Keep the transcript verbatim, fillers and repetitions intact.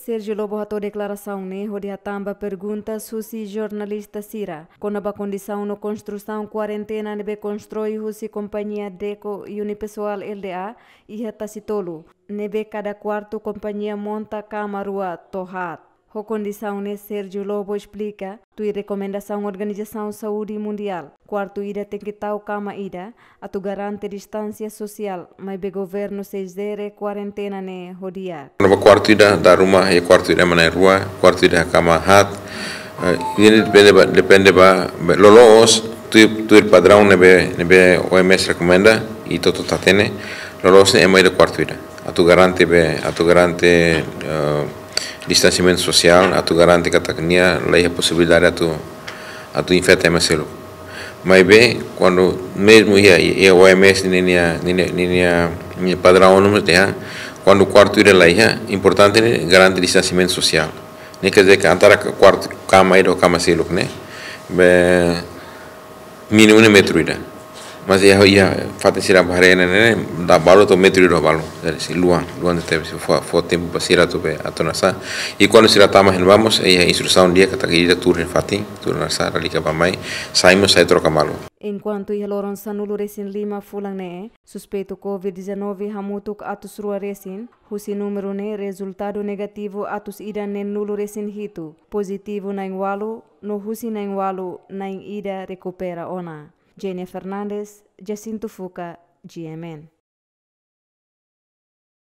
Sérgio Lobo hato'o deklarasaun ne'e hodi hatán ba perguntas husi jornalista sira kona-ba kondisaun no konstrusaun kuarentena ne'ebé konstrui husi kompañia Deco Unipessoal Lda iha Tasitolu, ne'ebé kada kuartu kompañia monta kama rua to'o haat. Ho kondisaun ne'e, Sérgio Lobo esplika, tuir rekomendasaun Organizasaun Saúde Mundiál, kuartu ida tenke tau kama ida, atu garante distánsia sosiál, maibé governu sei jere kuarentena ne'e ho di'ak. Kona-ba kuartu ida, dala ruma iha kuartu ida ema na'in-rua, kuartu ida kama haat. Eh, ida-ne'e depende ba, depende ba, ba loloos, tuir, tuir padraun ne'ebé, ne'ebé O M S rekomenda, i hotu-hotu hatene, loloos ne'e ema ida kuartu ida. Atu garante be, atu garante, eh, distansiamentu sosiál, atu garante katak nia laiha posibilidade atu, atu infeta ema seluk. Maibé, kuandu mezmu iha, iha O M S ninia, ninia, ninia, ninia padraun, no mesti ha, kuandu kuartu ida laiha, importante ne'e garante distansiamentu sosiál. Ne'e quer dizer que antara kuartu, kama ida ho kama seluk ne'e, be, mínimu ne'e metru ida. Mas iha, iha fatin sira ba haree ne'e, ne'e, dala balu to'o metru ida balu. Jadi sei luan, luan tebes, sei fó, fó tempu ba sira atu be, atu hanesan. I kuandu sira tama iha ne'ebá mós, iha instrusaun di'ak katak ida tuur iha fatin, tuur hanesan, lalika bá-mai, sai mós sai troka malu. Enkuantu iha loron sanulu-resin-lima fulan ne'e, suspeitu covid dezanove hamutuk atus rua resin, husi númeru ne'e rezultadu negativu atus ida neenulu-resin-hitu, pozitivu na'in-ualu, no husi na'in-ualu na'in-ida rekupera ona. Jenia Fernandes, Jacinto Fuca, G M N.